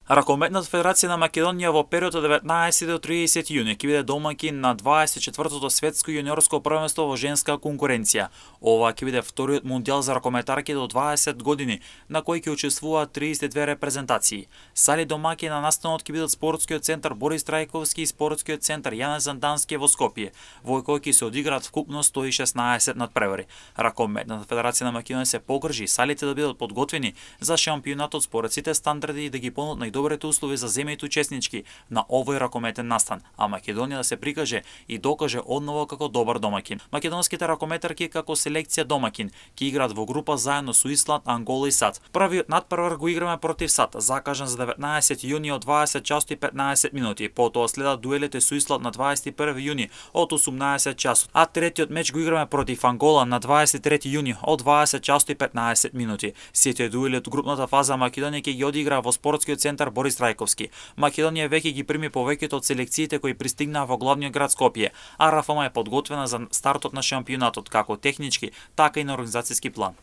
Ракометната федерација на Македонија во период од 19 до 30 јуни ќе биде домаќин на 24-тото светско јуниорско првенство во женска конкуренција. Ова ќе биде вториот мундијал за ракометарки до 20 години, на кој ќе учествуваат 32 репрезентации. Сали домаќини на настанот ќе бидат спортскиот центар Борис Трајковски и спортскиот центар Јане Зандански во Скопје, во кој ќе се одиграат вкупно 116 надпревари. Ракометната федерација на Македонија се погрижи салите да бидат подготвени за шампионатот според сите стандарди и да ги понудат добрите услови за земјите учеснички на овој ракометен настан, а Македонија да се прикаже и докаже одново како добар домаќин. Македонските ракометарки како селекција домаќин ќе играат во група заедно со Исланд, Ангола и САД. Првиот надпревар го играме против САД, закажан за 19 јуни од 20 часот и 15 минути. Потоа следат дуелите со Исланд на 21 јуни од 18 часот, а третиот меч го играме против Ангола на 23 јуни од 20 часот и 15 минути. Сите дуели од групната фаза Македонија ќе ги одигра во спортскиот центар Борис Трајковски. Македонија веќе ги прими повеќето од селекциите кои пристигнаа во главниот град Скопје, а РФМ е подготвена за стартот на шампионатот како технички, така и на организацијски план.